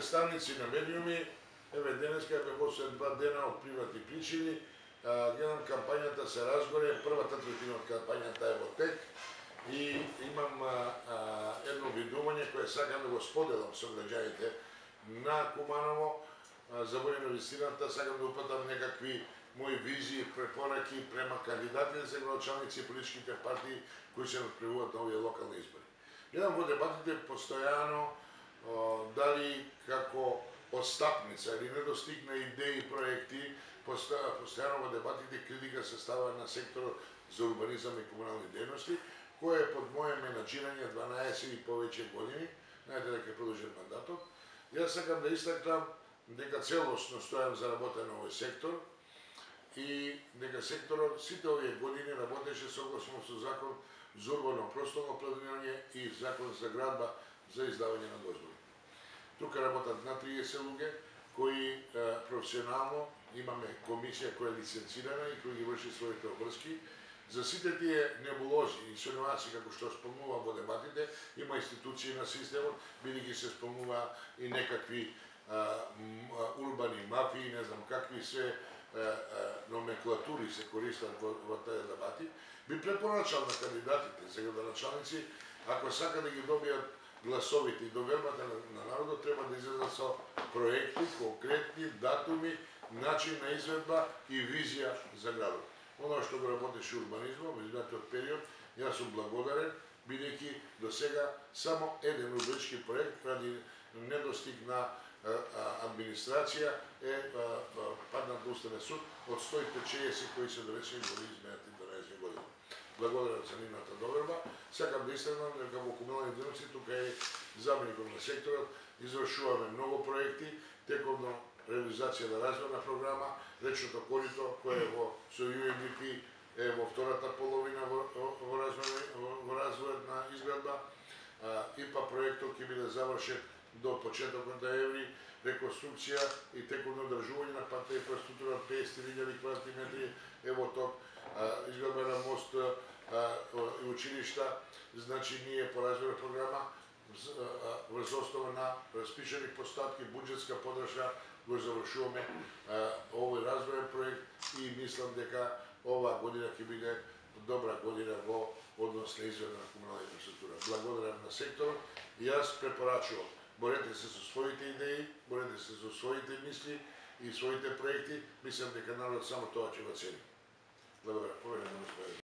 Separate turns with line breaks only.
представници на медиуми, еве денеска бе посвет 2 дена од приватни причини, гледам кампањата се разгоре, првата третина од кампањата е во тек и имам едно видување кое сакам да го споделам со граѓаните на Куманово за војно инвестираната, сакам да упатам некакви мои визии, препораки према кандидатите за градоначалници и политичките партии кои се надпревуват на овие локални избори. Гледам во дебатите постојано дали како отстапница или недостиг на идеи и проекти, постојано во дебатите критика се става на секторот за урбанизам и комунални дејности, кој е под моје менаџирање 12 и повеќе години, знаете дека е продолжен мандатот. Јас сакам да истакнам дека целосно стојам за работа на овој сектор и дека секторот сите овие години работеше согласно со закон за урбано просторно планирање и закон за градба за издавање на дозволи. Тука работат на 30 луѓе кои професионално имаме комисија која е лиценцирана и која ги врши своите обврски. За сите тие небулози и инсинуации како што спомнувам во дебатите, има институции на системот, бидејќи се спомнува и некакви урбани мафии, не знам какви се номенклатури се користат во тие дебати, би препорачал на кандидатите за градоначалници, ако сака да ги добијат гласовите и довербата на народот, треба да излезат со проекти, конкретни датуми, начин на изведба и визија за градот. Оно што го работеше урбанизмот во изминатиот период, јас сум благодарен, бидејќи до сега само еден урбанички проект ради недостиг на администрација е паднат на Уставен суд од 160 кои се донесени во изминатите 12 години. Благодарен за нивната доверба. Сакам да истакнам дека во комунални дејности тука е заменикот на секторот, извршуваме многу проекти, текомно реализација на развојна програма, речното корито кое е со UNDP е во втората половина во развојот на изградба. ИПА проектот ќе биде завршен до почетокот на еври, реконструкција и текомно одржување на патна инфраструктура 50.000 квадратни метри е во ток, изградба на мост и училишта, значи ние по развојна програма врз основа на распишани постапки, буџетска подршка го завршуваме овој развојен проект и мислам дека оваа година ќе биде добра година во однос на изведба на комунална инфраструктура. Благодарам на секторот и јас препорачувам, борете се со своите идеи, борете се со своите мисли и своите проекти, мислам дека народот само тоа ќе го цени. Благодарам.